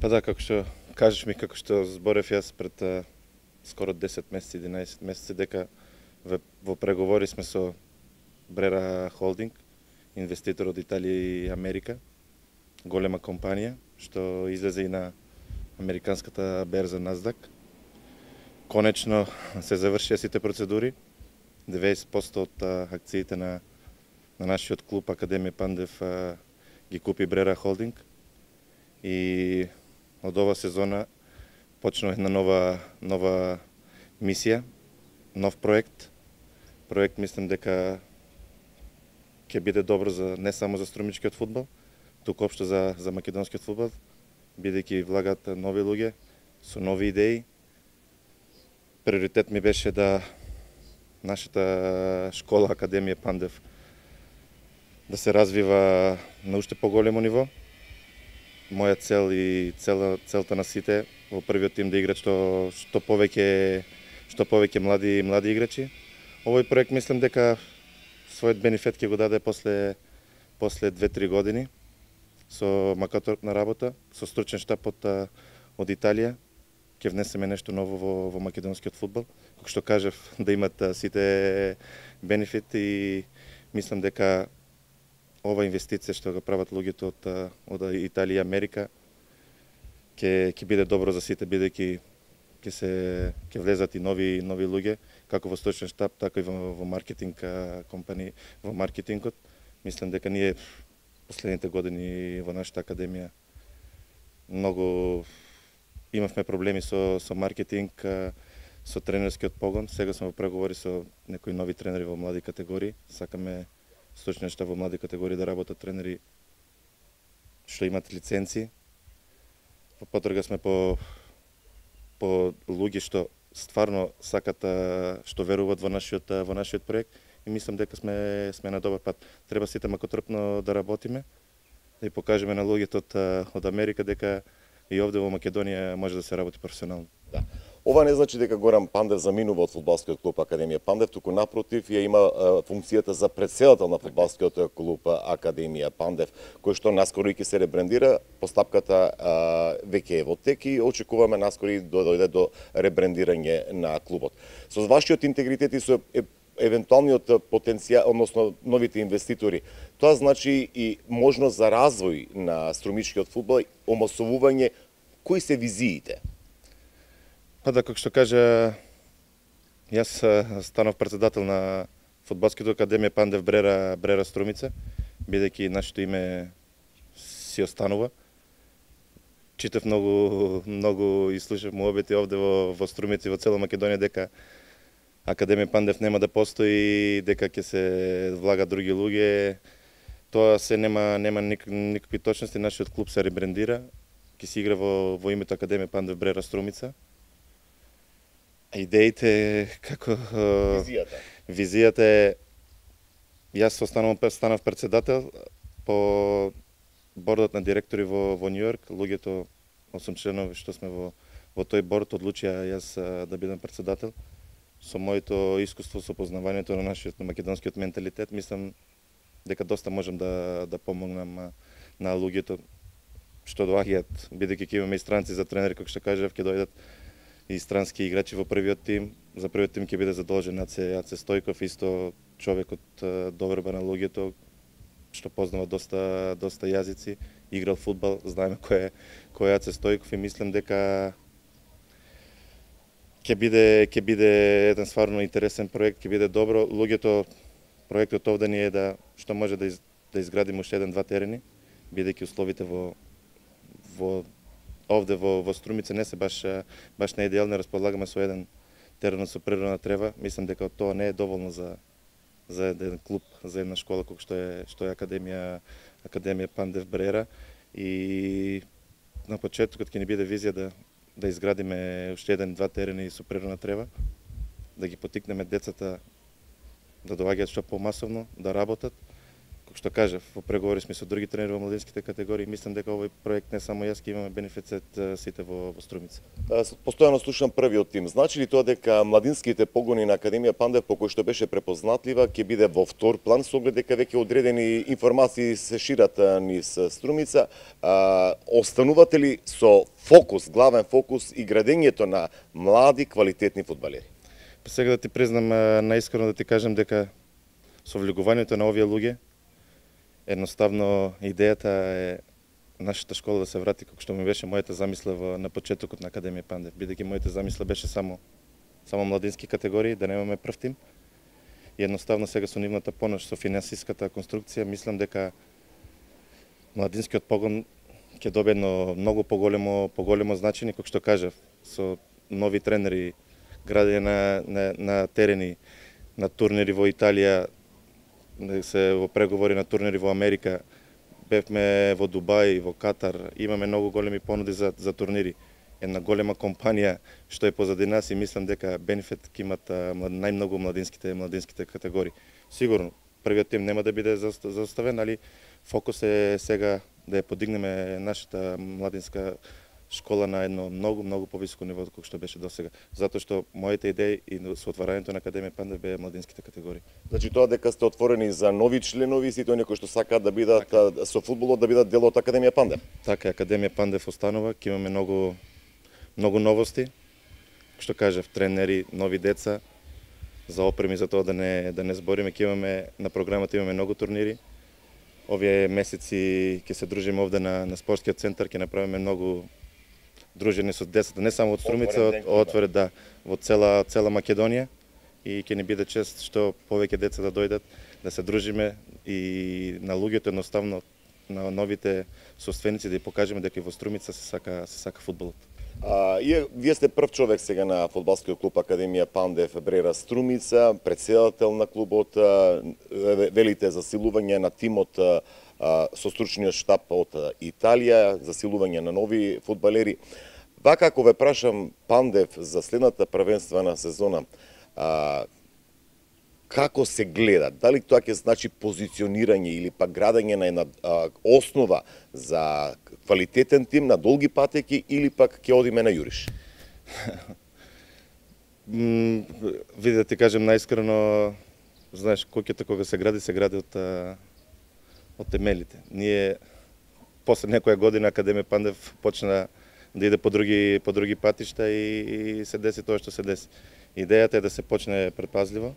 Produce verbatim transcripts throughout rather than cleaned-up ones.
Па да, како што кажеш ми, како што зборев јас пред а, скоро десет месеци, единаесет месеци, дека во, во преговори сме со Брера Холдинг, инвеститор од Италија и Америка, голема компанија, што излезе и на американската берза Насдак. Конечно се завршија сите процедури. деветдесет проценти од а, акциите на, на нашиот клуб Академија Пандев а, ги купи Брера Холдинг. И од ова сезона почнува една нова, нова мисија, нов проект. Проект мислам дека ќе биде добро за не само за струмичкиот фудбал, туку општо за, за македонскиот фудбал, бидејќи влагат нови луѓе со нови идеи. Приоритет ми беше да нашата школа Академија Пандев да се развива на уште поголемо ниво. Моја цел и цела, целта на сите во првиот тим да играат што што повеќе што повеќе млади млади играчи. Овој проект мислам дека својот бенефит ќе го даде после после две-три години со макаторна работа, со стручен штаб од од Италија. Ќе внесеме нешто ново во, во македонскиот фудбал. Како што кажав, да имат сите бенефит и мислам дека ова инвестиција што го прават луѓето од, од Италија и Америка ќе ќе биде добро за сите, бидејќи ќе се ќе влезат и нови нови луѓе, како во стручен штаб, така и во, во маркетинг компании, во маркетингот. Мислам дека ние последните години во нашата академија многу имавме проблеми со со маркетинг, со тренерскиот погон. Сега сме во преговори со некои нови тренери во млади категории. Сакаме стручен штаб во млади категории да работат тренери што имат лиценци. Во потрага сме по по луѓе што стварно сакат, што веруваат во нашиот во нашиот проект и мислам дека сме сме на добар пат. Треба сите макотрпно да работиме, да ја покажеме на луѓето од од Америка дека и овде во Македонија може да се работи професионално. Да. Ова не значи дека Горан Пандев заминува од фудбалскиот клуб Академија Пандев, туку напротив ја има а, функцијата за претседател на фудбалскиот клуб Академија Пандев, кој што наскоро и ќе се ребрендира. Постапката а, веќе е во тек и очекуваме наскоро и да дојде до ребрендирање на клубот. Со вашиот интегритет и со е, евентуалниот потенцијал, односно новите инвеститори, тоа значи и можност за развој на струмичкиот фудбал, омасовување. Кои се визиите? Па да, како што кажа, јас станав председател на фудбалскиот Академија Пандев Брера, Брера Струмица, бидејќи нашето име си останува. Читав многу, многу и слушав муабети овде во, во Струмица и во цела Македонија дека Академија Пандев нема да постои, дека ќе се влагат други луѓе. Тоа се нема нема ник, никакви точности. Нашиот клуб се ребрендира, ќе се игра во во името Академија Пандев Брера Струмица. Идеите како Визијата. Визијата е јас останав станав председател по бордот на директори во во Њујорк. Луѓето осум членови што сме во во тој борд одлучија јас да бидам председател. Со моето искуство, со познавањето на нашиот на македонскиот менталитет, мислам дека доста можам да да помогнам на луѓето што доаѓаат, бидејќи ќе имаме и странци за тренери, како што кажав, ќе дојдат и странски играчи во првиот тим. За првиот тим ќе биде задолжен Аце Аце Стојков, исто човек од доверба на луѓето, што познава доста доста јазици, играл фудбал, знаеме кој е кој е Аце Стојков и мислам дека ќе биде ќе биде еден стварно интересен проект, ќе биде добро. Луѓето, проектот овде ни е да што може да из, да изградиме уште еден-два терени, бидејќи условите во во овде во во Струмица не се баш баш не идеални. Располагаме со еден терен со природна трева. Мислам дека тоа не е доволно за за еден клуб, за една школа како што е што е Академија Академија Пандев Брера. И на почетокот ќе ни биде визија да да изградиме уште еден-два терени со природна трева, да ги потикнеме децата да доаѓаат што помасовно, да работат. како што кажав, во преговори сме со други тренери во младинските категории, мислам дека овој проект не само јас ќе имаме бенефицет сите во, во Струмица. Постојано слушам првиот тим. Значи ли тоа дека младинските погони на Академија Пандев, по кој што беше препознатлива, ќе биде во втор план, со оглед дека веќе одредени информации се шират низ Струмица? А, останувате ли со фокус, главен фокус и градењето на млади квалитетни фудбалери? Па сега да ти признам, наискрено да ти кажам дека со влегувањето на овие луѓе, едноставно идејата е нашата школа да се врати како што ми беше мојата замисла во, на почетокот на Академија Пандев, бидејќи мојата замисла беше само само младински категории, да немаме прв тим. И едноставно сега со нивната помош, со финансиската конструкција, мислам дека младинскиот погон ќе добие едно многу поголемо поголемо значење, како што кажав, со нови тренери, градење на, на, на терени, на турнири во Италија, се во преговори на турнири во Америка, бевме во Дубај, во Катар, имаме многу големи понуди за, за турнири. Една голема компанија што е позади нас и мислам дека бенефит ќе имат најмногу младинските младинските категории. Сигурно, првиот тим нема да биде заоставен, али фокус е сега да ја подигнеме нашата младинска школа на едно многу, многу повисоко ниво како што беше досега. Затоа што моите идеи и со отварањето на Академија Пандев беа младинските категории. Значи тоа дека сте отворени за нови членови, сите оние кои што сакаат да бидат така, со фудбалот да бидат дел од Академија Пандев. Така, Академија Пандев останува, ќе имаме многу многу новости. Што кажав, тренери, нови деца, за опреми за тоа да не да не збориме, ќе имаме на програмата имаме многу турнири. Овие месеци ќе се дружиме овде на на спортскиот центар, ќе направиме многу дружени со децата, не само од Струмица, од отворен да во цела цела Македонија и ќе ни биде чест што повеќе деца да дојдат, да се дружиме и на луѓето едноставно на новите собственици да ја покажеме дека и во Струмица се сака се сака фудбалот. А, и, вие сте прв човек сега на фудбалскиот клуб Академија Пандев Брера Струмица, претседател на клубот, велите засилување на тимот со стручниот штаб од Италија, засилување на нови фудбалери. Вака, ако ве прашам Пандев за следната првенствена сезона, а, како се гледа? Дали тоа ќе значи позиционирање или пак градење на една а, основа за квалитетен тим на долги патеки или пак ќе одиме на јуриш? Види да ти кажем наискрено, знаеш, куќата кога се гради, се гради од од темелите. Ние после некоја година Академија Пандев почна да иде по други по други патишта и, и се деси тоа што се деси. Идејата е да се почне предпазливо,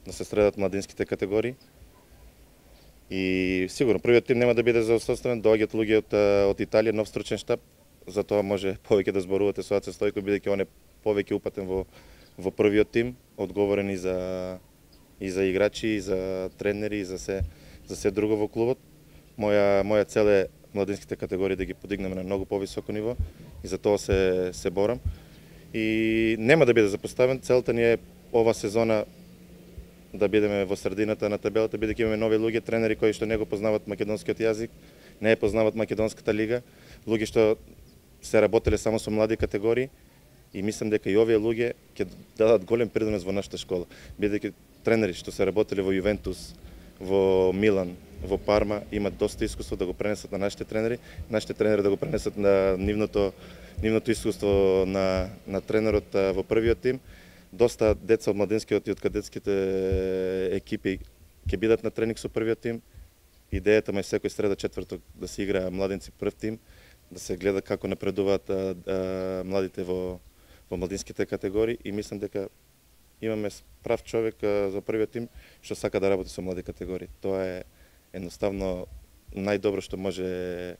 да се средат младинските категории. И сигурно првиот тим нема да биде заоставен, доаѓаат луѓе од од Италија, нов стручен штаб, затоа може повеќе да зборувате со Аце Стојко, бидејќи он е повеќе упатен во во првиот тим, одговорен и за и за играчи, и за тренери, и за се за се друго во клубот. Моја моја цел е младинските категории да ги подигнеме на многу повисоко ниво и за тоа се се борам. И нема да биде запоставен, целта ни е ова сезона да бидеме во средината на табелата, бидејќи имаме нови луѓе, тренери кои што не го познават македонскиот јазик, не ја познават македонската лига, луѓе што се работеле само со млади категории и мислам дека и овие луѓе ќе дадат голем придонес во нашата школа, бидејќи тренери што се работеле во Јувентус, во Милан, во Парма, имат доста искуство да го пренесат на нашите тренери, нашите тренери да го пренесат на нивното нивното искуство на на тренерот во првиот тим. Доста деца од младинскиот и од кадетските екипи ќе бидат на тренинг со првиот тим. Идејата ме е секој среда четврток да се игра младинци прв тим, да се гледа како напредуваат а, а, младите во во младинските категории и мислам дека имаме прав човек а, за првиот тим што сака да работи со млади категории. Тоа е едноставно најдобро што може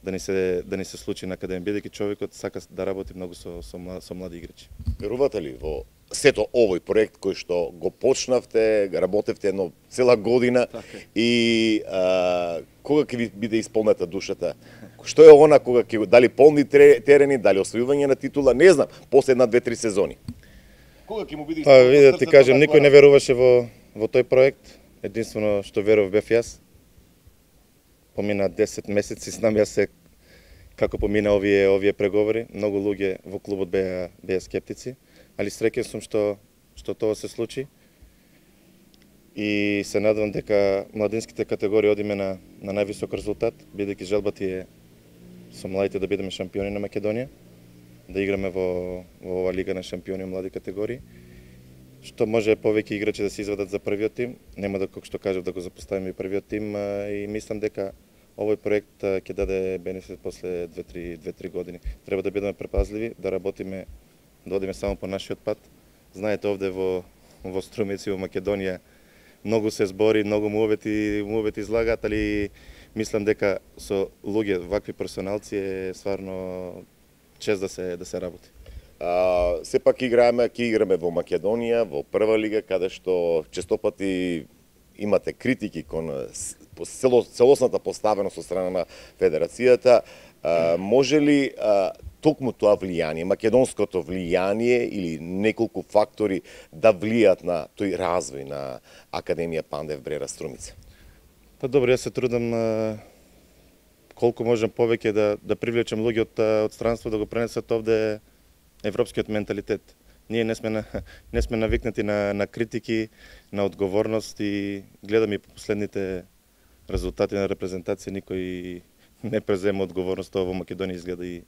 да ни се да ни се случи на Академија, бидејќи човекот сака да работи многу со со, со млади играчи. Верувате ли во сето овој проект кој што го почнавте, работевте едно цела година така. И а, кога ќе ви биде исполнета душата? Што е она кога ќе дали полни терени, дали освојување на титула, не знам, после една, две, три сезони. Кога ќе му биде исполнета? Па види да ти кажем, никој не веруваше во во тој проект. Единствено што верував бев јас. Помина десет месеци, знам јас се како помина овие овие преговори. Многу луѓе во клубот беа беа скептици, али среќен сум што што тоа се случи. и се надевам дека младинските категории одиме на, на највисок резултат, бидејќи желбата е со младите да бидеме шампиони на Македонија, да играме во, во ова лига на шампиони млади категории. Што може повеќе играчи да се извадат за првиот тим, нема да, како што кажав, да го запоставиме и првиот тим, и мислам дека овој проект ќе даде бенефит после две-три години. Треба да бидеме препазливи, да работиме, да одиме само по нашиот пат. Знаете, овде во, во Струмици, во Македонија, многу се збори, многу мувети, мувети излагаат, али мислам дека со луѓе, вакви персоналци е стварно чест да се да се работи. А, сепак играеме, ќе играме во Македонија, во прва лига, каде што честопати имате критики кон целосната поставеност од страна на Федерацијата. А, може ли а, токму тоа влијание, македонското влијание или неколку фактори да влијат на тој развој на Академија Пандев Брера Струмица? Па добро, јас се трудам а, колку можам повеќе да да привлечам луѓе од од странство да го пренесат овде европскиот менталитет. Ние не сме на, не сме навикнати на на критики, на одговорност и гледам и по последните резултати на репрезентација никој не презема одговорност, тоа во Македонија изгледа и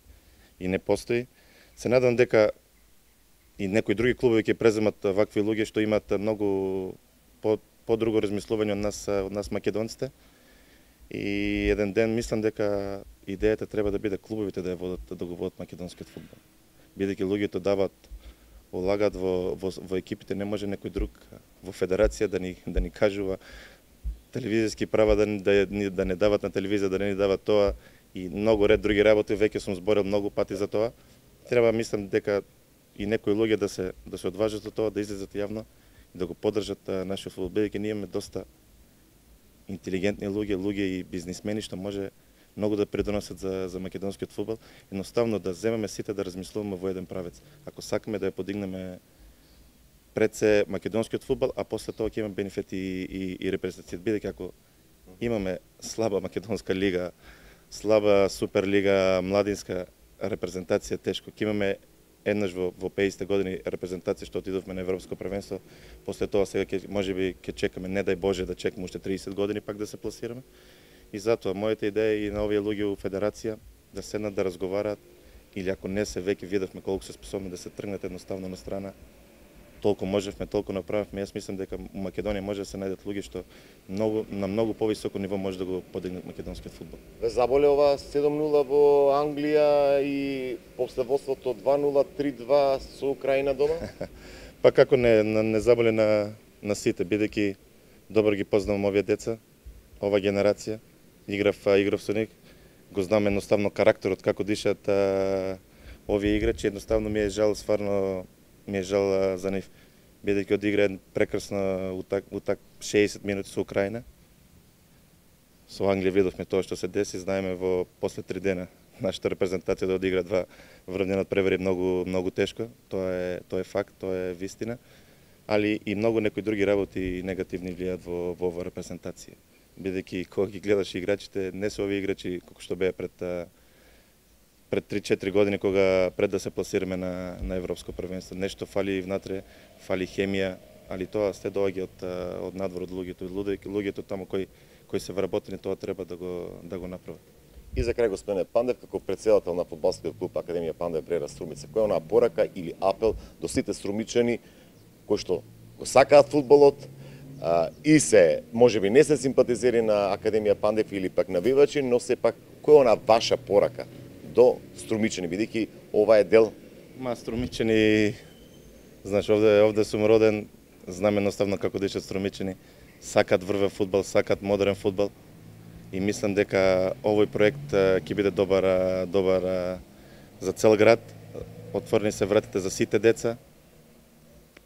и не постои. Се надам дека и некои други клубови ќе преземат вакви луѓе што имаат многу по подруго размислување од нас од нас македонците. И еден ден мислам дека идејата треба да биде клубовите да ја водат, да го водат македонскиот фудбал. Бидејќи луѓето дават, улагат во, во во екипите, не може некој друг во федерација да ни да ни кажува телевизиски права да да, да не дават на телевизија, да не ни дават тоа и многу ред други работи, веќе сум зборил многу пати за тоа. Треба мислам дека и некои луѓе да се да се одважат од тоа, да излезат јавно и да го поддржат нашиот фудбал, бидејќи ние имаме доста интелигентни луѓе, луѓе и бизнисмени што може многу да придонесат за за македонскиот фудбал. Едноставно да земеме сите да размислуваме во еден правец. Ако сакаме да ја подигнеме пред се македонскиот фудбал, а после тоа ќе имаме бенефити и, и, и репрезентација. Бидејќи ако имаме слаба македонска лига, слаба суперлига, младинска репрезентација, тешко. Ќе имаме еднаш во во петдесетте години репрезентација што отидовме на европско првенство. После тоа сега ќе можеби ќе чекаме, не дај Боже да чекаме уште триесет години пак да се пласираме. И затоа мојата идеја и на овие луѓе во федерација да седнат да разговараат, или ако не се веќе видовме колку се способни да се тргнат едноставно на страна, толку можевме, толку направивме. Јас мислам дека у Македонија може да се најдат луѓе што многу на многу повисоко ниво може да го подигнат македонскиот фудбал. Ве заболе ова седум нула во Англија и после водството два нула, три два со Украина дома? Па како не не заболе на на сите, бидејќи добро ги познавам овие деца, ова генерација. Играв играв со нив, го знам едноставно карактерот како дишат а, овие играчи, едноставно ми е жал, стварно ми е жал а, за нив, бидејќи одигра прекрасна утак, утак шеесет минути со Украина. Со Англија видовме тоа што се деси, знаеме во после три дена нашата репрезентација да одигра два врвни надпревари многу многу тешко, тоа е тоа е факт, тоа е вистина, али и многу некои други работи негативни влијаат во во оваа репрезентација. Бидејќи кога ги гледаш играчите, не се овие играчи како што беа пред пред три-четири години кога пред да се пласираме на на европско првенство. Нешто фали внатре, фали хемија, али тоа сте доаѓа од од надвор од луѓето, луѓето, луѓето таму кои кои се вработени, тоа треба да го да го направат. И за крај, господине Пандев, како претседател на фудбалскиот клуб Академија Пандев Брера Струмица, која е онаа порака или апел до сите струмичани кои што го сакаат фудбалот, а, и се, можеби не се симпатизери на Академија Пандев или пак навивачи, но сепак која е онаа ваша порака до струмичани, бидејќи ова е дел? Ма струмичани, знаеш, овде овде сум роден, знам едноставно како дишат струмичани, сакат врвен фудбал, сакат модерен фудбал. И мислам дека овој проект ќе биде добар добар за цел град. Отворени се вратите за сите деца.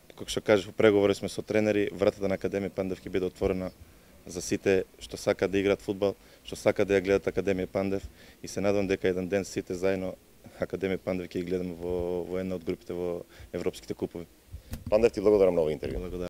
Како што кажав, преговори сме со тренери, вратата на Академија Пандев ќе биде отворена за сите што сакаат да играат фудбал, што сакаат да ја гледат Академија Пандев, и се надам дека еден ден сите заедно Академија Пандев ќе ги гледаме во во една од групите во европските купови. Пандев, ти благодарам на овој интервју. Благодарам.